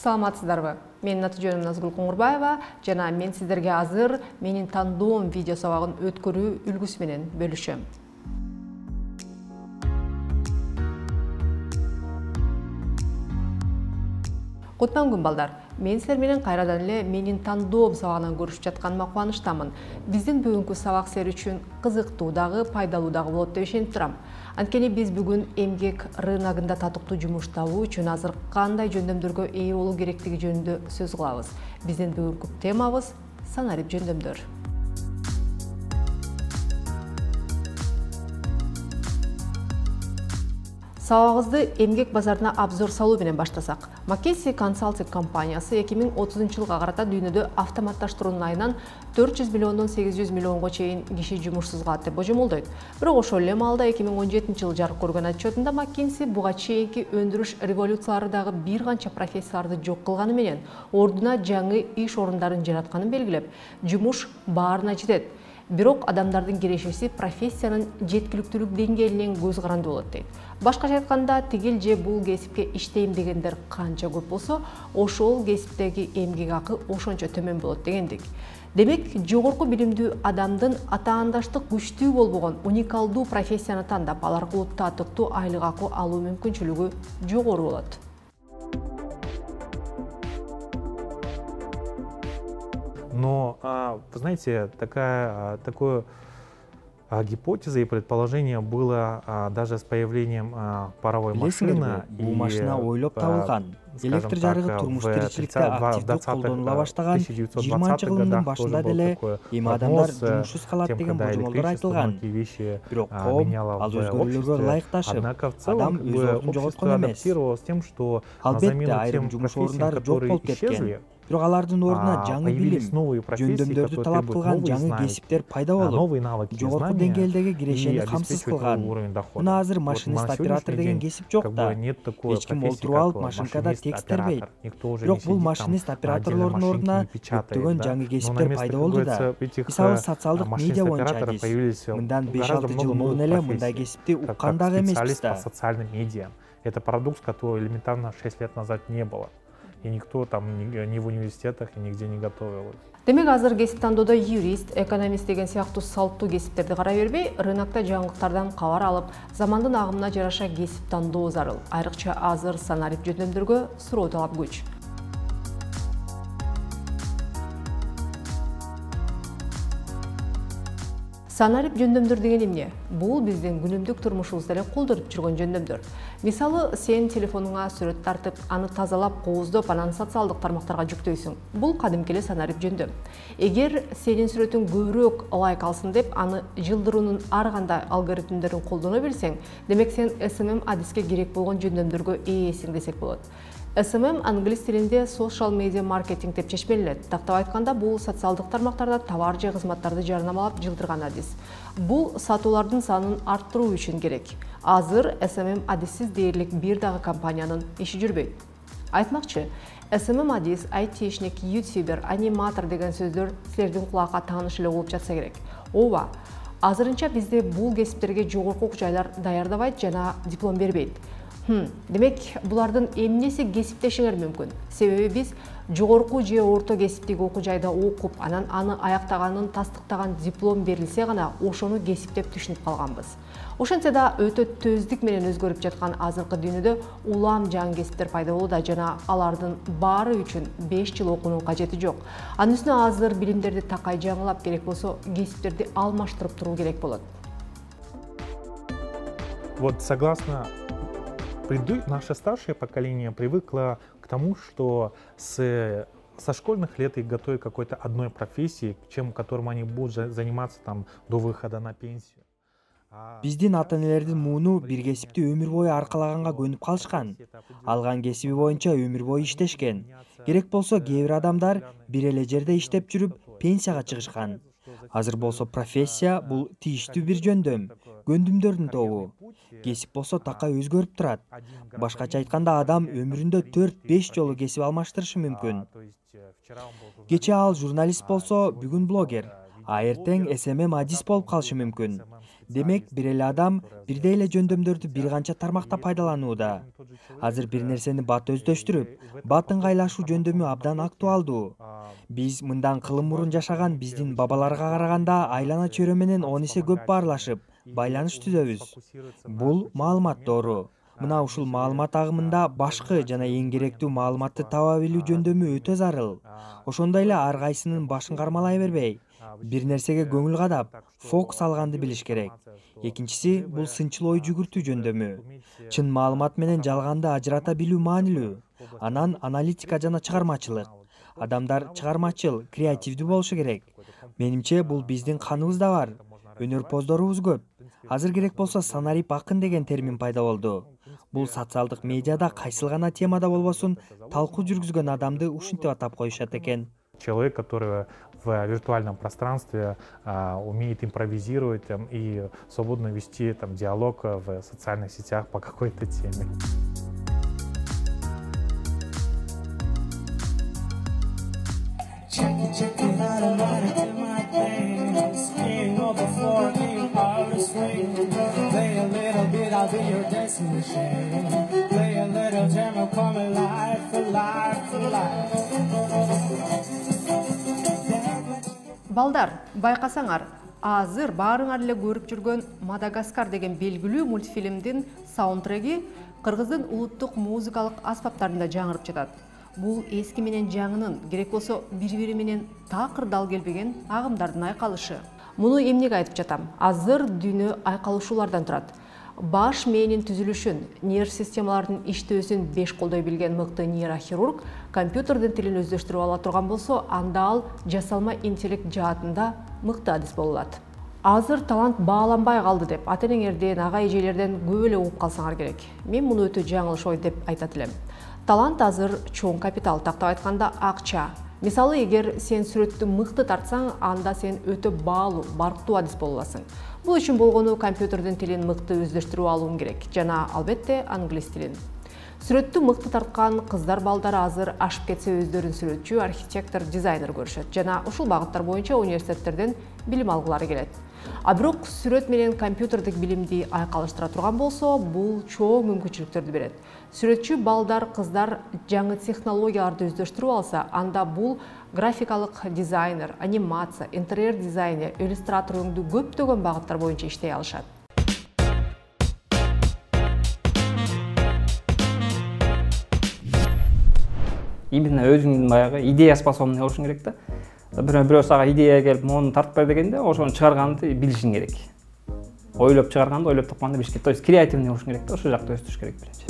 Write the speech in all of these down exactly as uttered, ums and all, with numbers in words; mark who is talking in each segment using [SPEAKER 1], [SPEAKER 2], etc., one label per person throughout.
[SPEAKER 1] саламатсыздарбы? Менин аты жөнүм Назгүл Коңурбаева жана мен сиздерге азыр менин тандоом видео сабагын өткөрүү үлгүсү менен бөлүшөм. Кутман күн балдар. Мен силер менен кайрадан эле менин тандоом сабагынан көрүшүп жатканыма кубанычтамын. Биздин бүгүнкү сабак силер үчүн кызыктуу дагы, пайдалуу дагы болот деп ишенип турам. Анткени биз бүгүн эмгек рыногунда татыктуу жумуш табуу үчүн азыр кандай жөндөмдөргө ээ болуу керектиги жөнүндө сөз кылабыз. Биздин бүгүнкү темабыз санарип жөндөмдөр. Сабагыбызды эмгек базарына обзор салуу менен баштасак. McKinsey Consulting компаниясы эки миң отузунчу жылга карата дүйнөдө автоматташтыруунун айынан төрт жүз миллиондон сегиз жүз миллионго чейин киши жумушсуз калат деп божомолдойт. Бирок ошол эле маалда эки миң он жетинчи жылы жарык көргөн отчетунда McKinsey буга чейинки өндүрүш революциялары дагы бир канча профессияларды жок кылганы менен ордуна жаңы иш орундарын жаратканын белгилеп, жумуш баарына жетет. Бирок адамдардын кирешеси профессиянын жеткиликтүүлүк деңгээлинен көз каранды болот дейт. Башкача айтканда, тигил же бул кесипке иштейм дегендер канча көп болсо, ошол кесиптеги эмгек акы ошончо төмөн болот дегендик. Демек, жогорку билимдүү адамдын атаандаштык күчтүү болбогон уникалдуу профессияны тандап, ал аркылуу татыктуу айлык акы алуу мүмкүнчүлүгү жогору болот.
[SPEAKER 2] Но, вы знаете, такая, такое гипотеза и предположение было даже с появлением паровой машины.
[SPEAKER 3] Бул машина ойлоп табылган. Электр жарыгы турмуш тиричиликте активдүү колдонула баштаган жыйырманчы кылымдын башында деле эми адамдар жумушсуз калат деген божомолдор айтылган. Бирок коом ал өзгөрүүлөргө ылайыкташып, адам өз ордун жоготкон эмес. Албетте, айрым жумуш орундары жок болуп кеткен. Бирок алардын ордуна жаңы билим, жөндөмдөрдү талап кылган жаңы кесиптер пайда болуп, жогорку деңгээлдеги кирешени камсыз кылган. Мына азыр машинист оператор деген кесип жок да. Эч ким олтуруп алып машинкада текст тербейт. Бирок бул машинист операторлордун ордуна көптөгөн жаңы кесиптер пайда болду да. Мисалы, социалдык медиа боюнча адис. Мындан беш алты жыл мурун эле мындай кесипти уккан дагы эмеспиз да.
[SPEAKER 2] Это парадокс, который элементарно шесть лет назад не было. И никто там ни в университетах и нигде не готовил.
[SPEAKER 1] Демек, азыр кесип тандоодо юрист, экономист деген сыяктуу салттуу кесиптерди карай бербей, рынокто жаңылыктардан кабар алып, замандын агымына жараша кесип тандоо зарыл. Айрыкча азыр санарип жөндөмдөргө суроо талап күч. Санарип жөндөмдөр деген эмне? Бул биздин күнүмдүк турмушубузда эле колдонуп жүргөн жөндөмдөр. Мисалы, сен телефонуңа сүрөт тартып, аны тазалап, кооздоп, анан социалдык тармактарга жүктөйсүң. Бул кадимки эле санарип жөндөм. Эгер сенин сүрөтүң көбүрөөк лайк алсын деп, аны жылдыруунун ар кандай алгоритмдерин колдоно билсең, демек сен эс эм эм адиске керек болгон жөндөмдөргө ээсиң десек болот. эс эм эм англис тилинде social media marketing деп чечмеленет. Тактап айтканда, бул социалдык тармактарда товар же кызматтарды жарнамалап жылдырган адис. Бул сатуулардын санын арттыруу үчүн керек. Азыр эс эм эм адиссиз дээрлик бир дагы компаниянын иши жүрбөйт. Айтмакчы, эс эм эм адис, айтишник, ютубер, аниматор деген сөздөр силердин кулакка тааныш эле болуп жатса керек. Ооба, азырынча бизде бул кесиптерге жогорку окуу жайлар даярдабайт жана диплом бербейт. Хм, демек, булардын эмнеси кесиптешиңер мүмкүн? Себеби биз жогорку же орто кесиптеги окуу жайда окуп, анан аны аяктаганын тастыктаган диплом берилсе гана ошону кесип деп түшүнүп калганбыз. Ошентсе да өтө төздүк менен өзгөрүп жаткан азыркы дүйнөдө улам жаңы кесиптер пайда болууда жана алардын баары үчүн беш жыл окуунун кажети жок. Анын үстүнө азыр билимдерди такай жаңылап, керек болсо кесиптерди алмаштырып туруу керек болот.
[SPEAKER 2] Вот согласно наше старшее поколение привыкло к тому, что с, со школьных лет их готовят к какой-то одной профессии, чем которым они будут заниматься там до выхода на пенсию.
[SPEAKER 3] Биздин ата-энелердин мууну бир кесипти өмүр бою аркалаганга көнүп калышкан. Алган кесиби боюнча өмүр бою иштешкен. Керек болсо кээ бир адамдар бир эле жерде иштеп жүрүп пенсияга чыгышкан. Азыр болсо профессия бул тийиштүү бир жөндөм, көндүмдөрдүн тобу. Кесип болсо такай өзгөрүп турат. Башкача айтканда, адам өмүрүндө төрт беш жолу кесип алмаштырышы мүмкүн. Кечээ ал журналист болсо, бүгүн блогер, а эртең эс эм эм адис болуп калышы мүмкүн. Демек, бир эле адам бирдей эле жөндөмдөрдү бир канча тармакта пайдаланууда. Азыр бир нерсени бат өздөштүрүп, бат ыңгайлашуу жөндөмү абдан актуалдуу. Биз мындан кылым мурун жашаган биздин бабаларга караганда айлана чөйрө менен он эсе көп баарлашып, байланыш түзөбүз. Бул маалымат доору. Мына ушул маалымат агымында башкы жана эң керектүү маалыматты таба билүү жөндөмү өтө зарыл. Ошондой эле ар кайсынын башын кармалай бербей, бир нерсеге көңүл кадап, фокус алганды билиш керек. Экинчиси бул сынчыл ой жүгүртүү жөндөмү. Чын маалымат менен жалганды ажырата билүү маанилүү. Анан аналитика жана чыгармачылык. Адамдар чыгармачыл, креативдүү болушу керек. Менимче бул биздин каныбызда бар. Өнөрпоздорубуз көп. Азыр керек болсо санарип акын деген термин пайда болду. Бул социалдык медиада кайсыл гана темада болбосун талкуу жүргүзгөн адамды ушинтип атап коюшат экен.
[SPEAKER 2] Человек, который в виртуальном пространстве а, умеет импровизировать там, и свободно вести там, диалог в социальных сетях по какой-то теме.
[SPEAKER 1] Балдар, байкасаңар, азыр баарыңар эле көрүп жүргөн Мадагаскар деген белгилүү мультфильмдин саундтреги Кыргыздын улуттук музыкалык аспаптарында жаңырып жатат. Бул эски менен жаңынын, керек болсо бири-бири менен такыр дал келбеген агымдардын айкалышы. Муну эмнеге айтып жатам? Азыр дүйнө айкалышуулардан турат. Баш мээнин түзүлүшүн, нерв системаларынын иштөөсүн беш колдой билген мыкты нейрохирург компьютердин тилин өздөштүрүп ала турган болсо, анда ал жасалма интеллект жаатында мыкты адис боло алат. Азыр талант бааланбай калды деп ата-энеңерден, ага-эжелерден көп эле угуп калсаңар керек. Мен муну өтө жаңылыш ой деп айтат элем. Талант азыр чоң капитал, тактап айтканда акча. Мисалы, эгер сен сүрөттү мыкты тартсаң, анда сен өтө баалуу, барктуу адис боло аласың. Бул үчүн болгону компьютердин тилин мыкты өздөштүрүп алуң керек жана албетте англис тилин. Сүрөттү мыкты тарткан кыздар балдар азыр ашып кетсе өздөрүн сүрөтчү, архитектор, дизайнер көрүшөт жана ушул багыттар боюнча университеттерден билим алгылары келет. А бирок сүрөт менен компьютердик билимди айкалыштыра турган болсо, бул чоң мүмкүнчүлүктөрдү берет. Сүрөтчү балдар, кыздар жаңы технологияларды өздөштүрүп алса, анда бул графикалык дизайнер, анимация, интерьер дизайнер, иллюстратор өңдүү көптөгөн багыттар боюнча иштей алышат.
[SPEAKER 4] Именно өзүңдүн баягы идея способный болушуң керек да. Бирөө бирөө сага идея келип, мону тартып бер дегенде, ошону чыгарганды билишиң керек. Ойлоп чыгарганды ойлоп тапканды билиш керек. То есть креативный болушуң керек да, ошол жакта өстүрүш керек биринчи.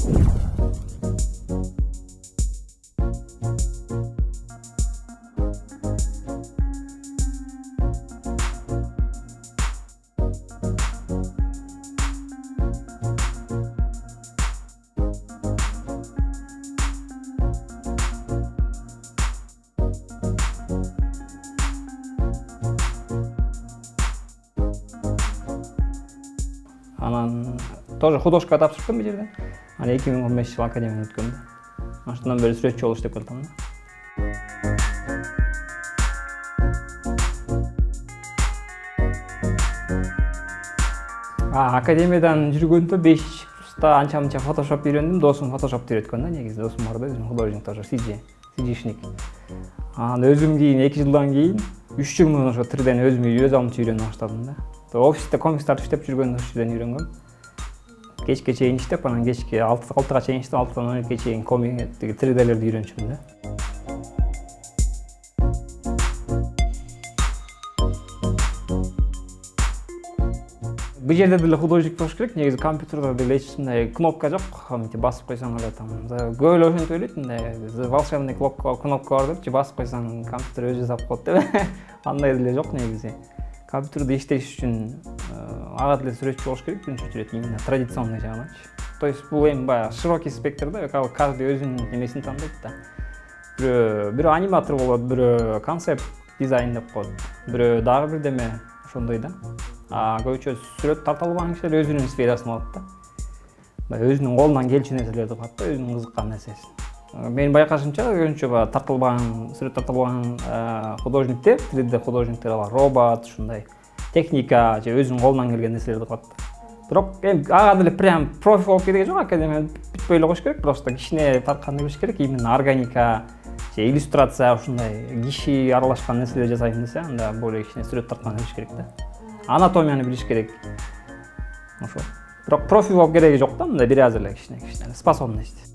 [SPEAKER 4] Анан тоже художка тапшырдым бул жерден. Анан эки миң он беш жыл академияны өткөм да. Ошондон бери сүрөтчү болуш деп калдым да. А академиядан жүргөндө беш курста анча-мынча фотошоп үйрөндүм. Досум фотошопты үйрөткөн да, негизи досум бар да, өзүм художник тоже, сиджи, сиджишник. Анан өзүм кийин эки жылдан кийин үч жыл муну ошо триден өзүм өз алымча үйрөнө баштадым да. Офисте комикстарды иштеп жүргөндө ошодон үйрөнгөм. Кечке чейин иштеп, анан кечке алтыга чейин иштеп, алтыдан он экиге чейин комикти тридэлерди үйрөнчүмүн да. Бул жерде деле художник болуш керек, негизи компьютерде деле эч мындай кнопка жок, мынтип басып койсоң эле там. Көп эле ошентип ойлойт, мындай волшебный кнопка бар депчи, басып койсоң компьютер өзү жасап коет деп. Андай деле жок негизи. Компьютерде иштеш үчүн ага деле сүрөтчү болуш керек, биринчи очередь именно традиционный жагынан. То есть бул эми баягы широкий спектр да, каждый өзүнүн эмесин тандайт да. Бирөө бирөө аниматор болот, бирөө концепт дизайн деп коет, бирөө дагы бирдеме ошондой да. А көбүнчө сүрөт тарта албаган кишилер өзүнүн сферасын алат да. Баягы өзүнүн колунан келчү нерселерди кылат да, өзүнүн кызыккан нерсесин. Менин байкашымча көбүнчө баягы тартылбаган, сүрөт тартылбаган художниктер, три дэ художниктер бар, робот, ушундай техника же өзүнүн колунан келген нерселерди кылат. Бирок эми ага деле прям профи болуп кеткен жок, академия бүтпөй эле коюш керек, просто кичине тартканды билиш керек, именно органика же иллюстрация ушундай киши аралашкан нерселер жасайм десе, анда более кичине сүрөт тартканды билиш керек да. Анатомияны билиш керек. Ошо. Бирок профи болуп кереги жок да, мындай бир аз эле кичине кичине способность.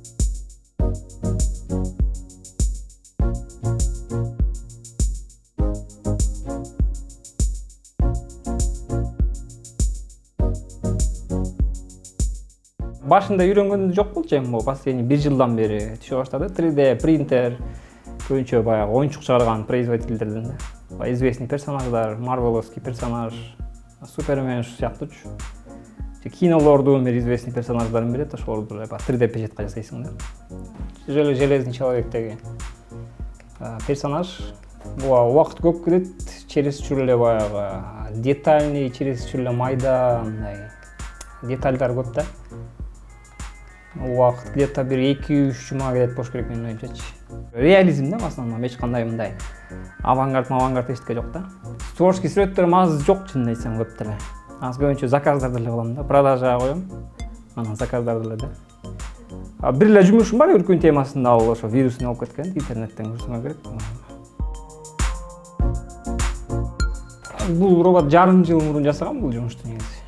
[SPEAKER 4] Башында үйрөнгөндү жок болчу, эми могу последний бир жылдан бери түшө баштады. три дэ принтер, көбүнчө баягы оюнчук чыгарган производительдерден да. Известный персонаждар, марвеловский персонаж, Супермен сыяктуучу. Кинолордун бир известный персонаждарын берет, ошолорду три дэ печатка жасайсың да. Железный человектеги персонаж убакыт көп кетет, чересчур эле баягы детальный, чересчур эле майда, мындай детальдар көп да. Убакыт где-то бир эки үч жума кетет болуш керек менин оюмчачы. Реализм да, в основном эч кандай мындай авангард, авангард эчтеке жок да. Творческий сүрөттөрүм аз жок, чынын айтсам, көп деле. Аз көбүнчө заказдарды эле кылам да, продажага коем. Анан заказдарды эле да. Бир эле жумушум бар, үркүн темасында, ал ошо вирусун алып кеткен, интернеттен көрсөңөр керек. Бул робот жарым жыл мурун жасаган бул жумушту негизи.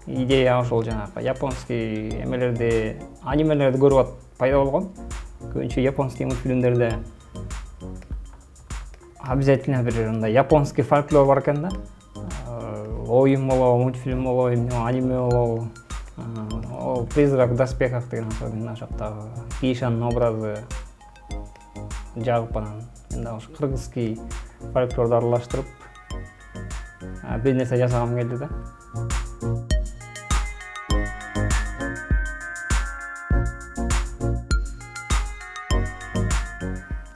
[SPEAKER 4] Идея ошол жанагы японский эмелерди, анимелерди көрүп пайда болгон. Көбүнчө японский мультфильмдерде обязательно бир мындай японский фольклор бар экен да. Оюн болобу, мультфильм болобу, аниме болобу. О, призрак в доспехах деген особенно жактагы Кишанын образы жагып анан мен дагы ошо кыргызский фольклорду аралаштырып бир нерсе жасагым келди да.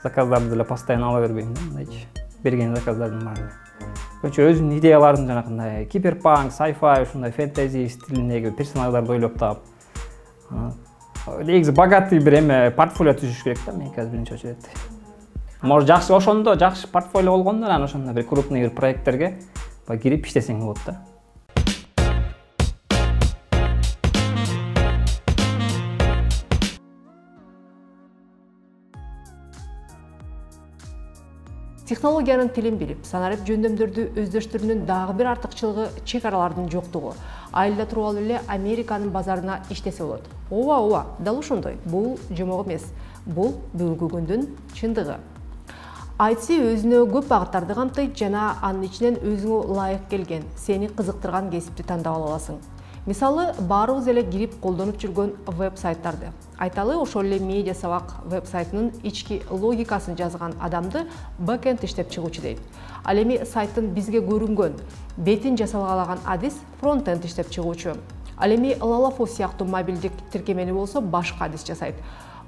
[SPEAKER 4] Заказдарды деле постоянно ала бербейм да, мындайчы. Берген заказдардын баары. Көбүнчө өзүнүн идеяларын жанагындай киберпанк, сайфай, ушундай фэнтези стилиндеги персонаждарды ойлоп таап. Негизи богатый бир эме портфолио түзүш керек да, мен азыр биринчи очередь. Может жакшы ошондо жакшы портфолио болгондо анан ошондо бир крупный бир проекттерге кирип иштесең болот да.
[SPEAKER 1] Технологиянын тилин билип, санарип жөндөмдөрдү өздөштүрүүнүн дагы бир артыкчылыгы чек аралардын жоктугу. Айылда туруп алып эле Американын базарына иштесе болот. Ооба, ооба, дал ошондой. Бул жомок эмес. Бул бүгүнкү күндүн чындыгы. ай ти өзүнө көп багыттарды камтыйт жана анын ичинен өзүңө ылайык келген, сени кызыктырган кесипти тандап ала аласың. Мисалы, баарыбыз эле кирип колдонуп жүргөн веб-сайттарды. Айталы, ошол эле медиа сабак веб-сайтынын ички логикасын жазган адамды бэкенд иштеп чыгуучу дейт. Ал эми сайттын бизге көрүнгөн, бетин жасалгалаган адис фронтенд иштеп чыгуучу. Ал эми Лалафо сыяктуу мобилдик тиркемени болсо башка адис жасайт.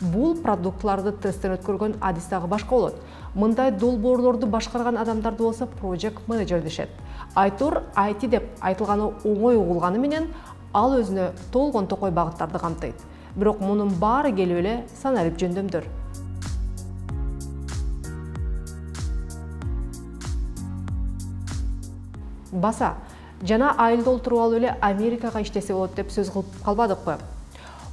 [SPEAKER 1] Бул продуктларды тесттен өткөргөн адис дагы башка болот. Мындай долбоорлорду башкарган адамдарды болсо project manager дешет. Айтор ай ти деп айтылганы оңой угулганы менен ал өзүнө толгон токой багыттарды камтыйт. Бирок мунун баары келип эле санарип жөндөмдөр. Баса, жана айылда олтуруп алып эле Америкага иштесе болот деп сөз кылып калбадыкпы?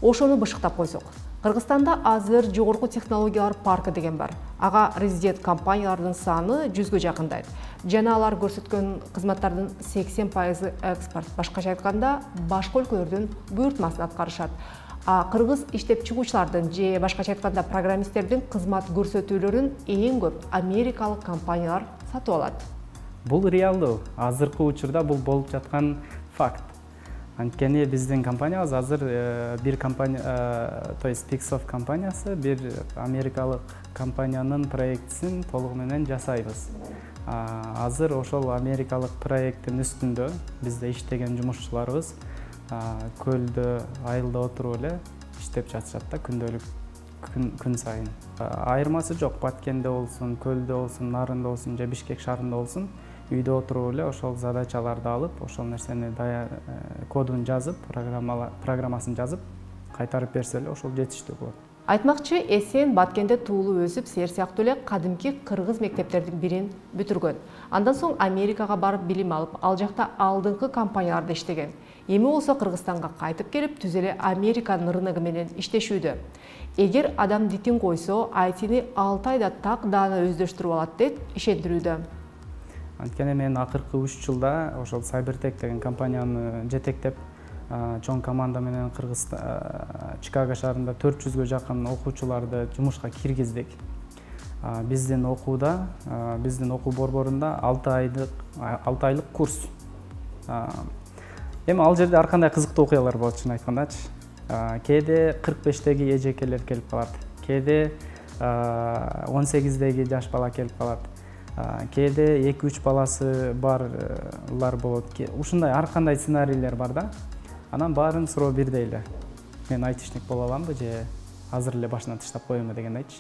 [SPEAKER 1] Ошону бышыктап койсок. Кыргызстанда азыр жогорку технологиялар паркы деген бар. Ага резидент компаниялардын саны жүзгө жакындайт. Жана алар көрсөткөн кызматтардын сексен пайызы экспорт. Башкача айтканда, башка өлкөлөрдүн буйртмасын аткарышат. А кыргыз иштеп чыгуучулардын же башкача айтканда программисттердин кызмат көрсөтүүлөрүн эң көп америкалык компаниялар сатып алат.
[SPEAKER 5] Бул реалдуу. Азыркы учурда бул болуп жаткан факт. Анткени биздин компаниябыз азыр бир компания, то есть Pixoft компаниясы бир америкалык компаниянын проектисин толугу менен жасайбыз. Азыр ошол америкалык проекттин үстүндө бизде иштеген жумушчуларыбыз көлдө, айылда отуруп эле иштеп жатышат да, күндөлүк күн сайын. Айырмасы жок, Баткенде болсун, көлдө болсун, Нарында болсун же Бишкек шаарында болсун, үйдө отуруп эле ошол задачаларды алып, ошол нерсени кодун жазып, программасын жазып, кайтарып берсе эле ошол жетиштүү болот.
[SPEAKER 1] Айтмакчы, Эсен Баткенде туулуп өсүп, сер сыяктуу эле кадимки кыргыз мектептердин бирин бүтүргөн. Андан соң Америкага барып билим алып, ал жакта алдыңкы компанияларда иштеген. Эми болсо Кыргызстанга кайтып келип, түз эле Американын рыногу менен иштешүүдө. Эгер адам дитин койсо, ай тини алты айда так даана өздөштүрүп алат деп ишендирүүдө.
[SPEAKER 5] Анткени мен акыркы үч жылда ошол Cybertech деген компанияны жетектеп, чоң команда менен Кыргызстан Чикаго шаарында төрт жүзгө жакын окуучуларды жумушка киргиздик. Биздин окууда, биздин окуу борборунда алты айлык алты айлык курс. Эми ал жерде ар кандай кызыктуу окуялар болот, чын айткандачы. Кээде кырк бештеги эжекелер келип калат, кээде он сегиздеги жаш бала келип калат, кээде эки үч баласы барлар болот. Ушундай ар кандай сценарийлер бар да. Анан баарын суроо бирдей эле. Мен айтышник боло аламбы же азыр эле башынан таштап коембу дегенди айтчы.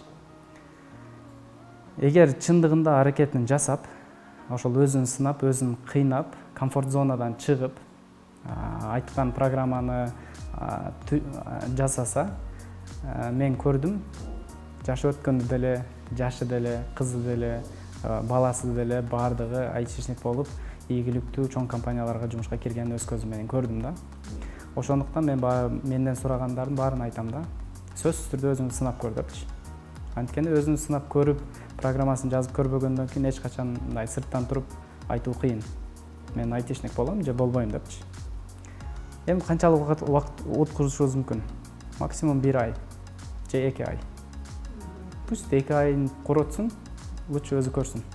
[SPEAKER 5] Эгер чындыгында аракетин жасап, ошол өзүн сынап, өзүн кыйнап, комфорт зонадан чыгып, айткан программаны жасаса, мен көрдүм, жашы өткөндө деле, жашы деле, кызы деле, баласы деле баардыгы айтышник болуп, ийгиликтүү чоң компанияларга жумушка киргенин өз көзүм менен көрдүм да. Ошондуктан мен менден сурагандардын баарын айтам да. Сөзсүз түрдө өзүңдү сынап көр депчи. Анткени өзүн сынап көрүп, программасын жазып көрбөгөндөн кийин эч качан мындай сырттан туруп айтуу кыйын. Мен айтышник болом же болбойм депчи. Эми канчалык убакыт өткөрүшүбүз мүмкүн? Максимум бир ай же эки ай. Пусть эки айын коротсун, лучше өзү көрсүн.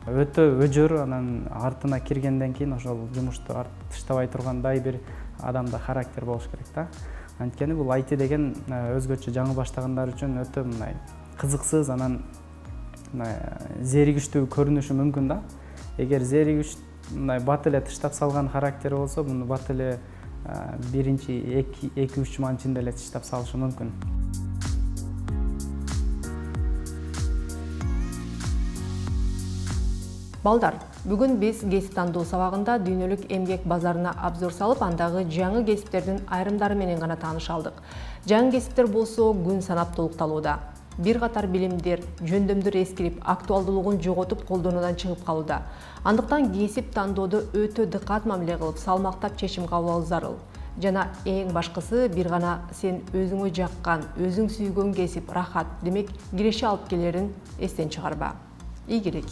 [SPEAKER 5] Өтө өжөр, анан артына киргенден кийин ошол жумушту таштабай тургандай бир адамда характер болуш керек да. Анткени бул ай ти деген өзгөчө жаңы баштагандар үчүн өтө мындай кызыксыз, анан зеригиштүү көрүнүшү мүмкүн да. Эгер зеригиш мындай бат эле таштап салган характери болсо, муну бат эле биринчи эки үч жуманын ичинде эле таштап салышы мүмкүн.
[SPEAKER 1] Балдар, бүгүн биз кесип тандоо сабагында дүйнөлүк эмгек базарына обзор салып, андагы жаңы кесиптердин айрымдары менен гана тааныша алдык. Жаңы кесиптер болсо күн санап толукталууда. Бир катар билимдер, жөндөмдөр эскирип, актуалдуулугун жоготуп, колдонуудан чыгып калууда. Андыктан кесип тандоодо өтө дыкат мамиле кылып, салмактап чечим кабыл алуу зарыл. Жана эң башкысы, бир гана сен өзүңө жаккан, өзүң сүйгөн кесип рахат, демек киреше алып келерин эстен чыгарба. Ийгилик.